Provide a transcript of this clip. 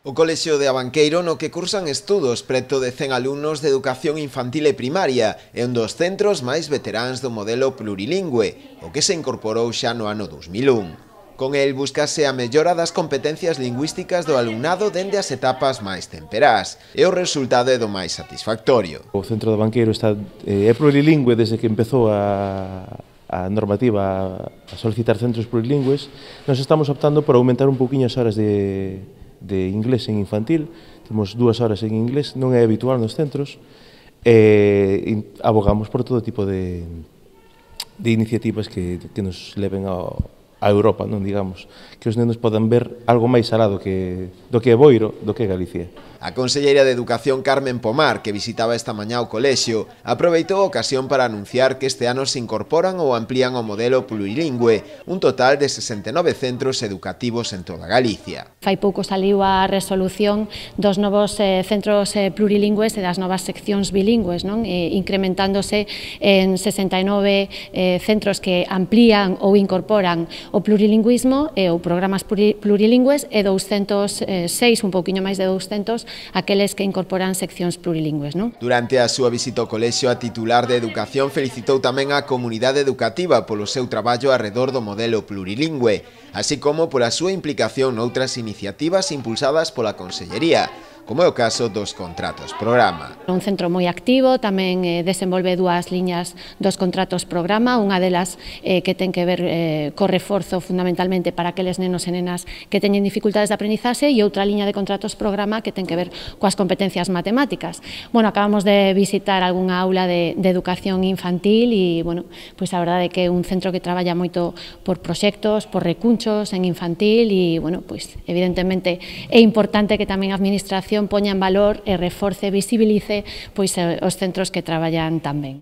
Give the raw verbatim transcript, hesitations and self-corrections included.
O Colexio de Abanqueiro, no que cursan estudos preto de cen alumnos de educación infantil e primaria, é un dos centros máis veteráns do modelo plurilingüe, o que se incorporou xa no ano dos mil un. Con el buscase a mellora das competencias lingüísticas do alumnado dende as etapas máis temperás, e o resultado é do máis satisfactorio. O centro de Abanqueiro está, é plurilingüe desde que empezou a, a normativa a solicitar centros plurilingües. Nos estamos optando por aumentar un pouquiño as horas de, de inglés en infantil. Temos dúas horas en inglés, non é habitual nos centros, e abogamos por todo tipo de, de iniciativas que, que nos leven ao a Europa, non digamos, que os nenos podan ver algo máis alá do que, do que é Boiro, do que é Galicia. A conselleira de Educación Carmen Pomar, que visitaba esta mañá o colexio, aproveitou a ocasión para anunciar que este ano se incorporan ou amplían o modelo plurilingüe, un total de sesenta e nove centros educativos en toda Galicia. Fai pouco saliu a resolución dos novos eh, centros eh, plurilingües e das novas seccións bilingües, non? Eh, incrementándose en sesenta e nove eh, centros que amplían ou incorporan o plurilingüismo e ou programas plurilingües e douscentos e seis, un pouquiño máis de douscentos, aqueles que incorporan seccións plurilingües, non? Durante a súa visita ao colexio, a titular de Educación felicitou tamén a comunidade educativa polo seu traballo arredor do modelo plurilingüe, así como pola súa implicación noutras iniciativas impulsadas pola Consellería, como é o caso dos contratos programa. Un centro moi activo, tamén eh, desenvolve dúas liñas dos contratos programa, unha delas eh, que ten que ver eh, co reforzo fundamentalmente para aqueles nenos e nenas que teñen dificultades de aprendizaxe e outra liña de contratos programa que ten que ver coas competencias matemáticas. Bueno, acabamos de visitar algunha aula de, de educación infantil e, bueno, pois a verdade é que é un centro que traballa moito por proxectos, por recunchos en infantil e, bueno, pois evidentemente é importante que tamén a administración poña en valor e reforce e visibilice pois os centros que traballan tan ben.